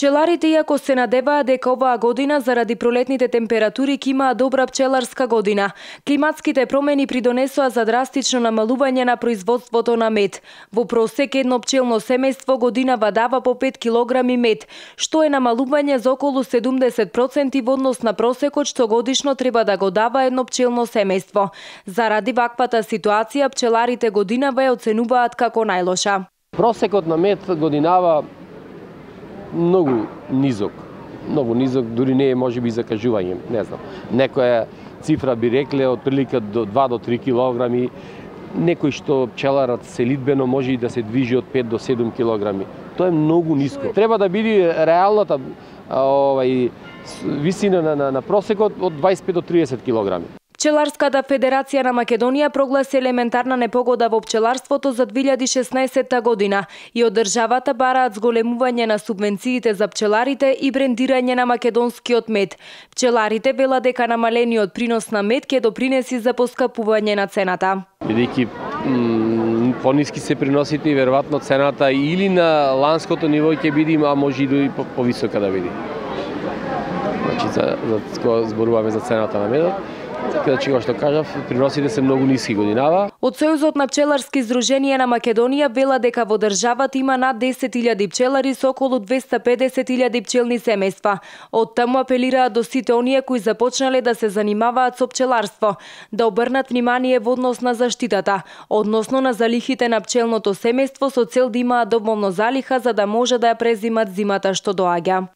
Пчеларите, иако се надеваат дека оваа година заради пролетните температури ќе имаат добра пчеларска година, климатските промени придонесоа за драстично намалување на производството на мед. Во просек едно пчелно семејство годинава дава по 5 килограми мед, што е намалување за околу 70% во однос на просекот што годишно треба да го дава едно пчелно семејство. Заради ваквата ситуација, пчеларите годинава ја оценуваат како најлоша. Просекот на мед годинава многу низок, дури не е можеби закажување, не знам. Некоја цифра би рекле од прилика до 2 до 3 килограми, некој што пчеларот селидбено може и да се движи од 5 до 7 килограми. Тоа е многу ниско. Треба да биде реалната висина на просекот од 25 до 30 килограми. Пчеларската федерација на Македонија прогласи елементарна непогода во пчеларството за 2016 година и од државата бараат зголемување на субвенциите за пчеларите и брендирање на македонскиот мед. Пчеларите велат дека намалениот принос на мед ќе допринеси за поскапување на цената. Бидејќи пониски се приносите и веројатно цената или на ланското ниво ќе биде, а може и повисока да биде. Значи, кога зборуваме за цената на медот, така да што кажав, приносите се многу ниски годинава. Од Сојузот на пчеларски здруженија на Македонија вела дека во државата има над 10.000 пчелари со околу 250.000 пчелни семејства. Од таму апелираат до сите оние кои започнале да се занимаваат со пчеларство, да обрнат внимание во однос на заштитата, односно на залихите на пчелното семејство со цел да имаат доволно залиха за да може да ја презимат зимата што доаѓа.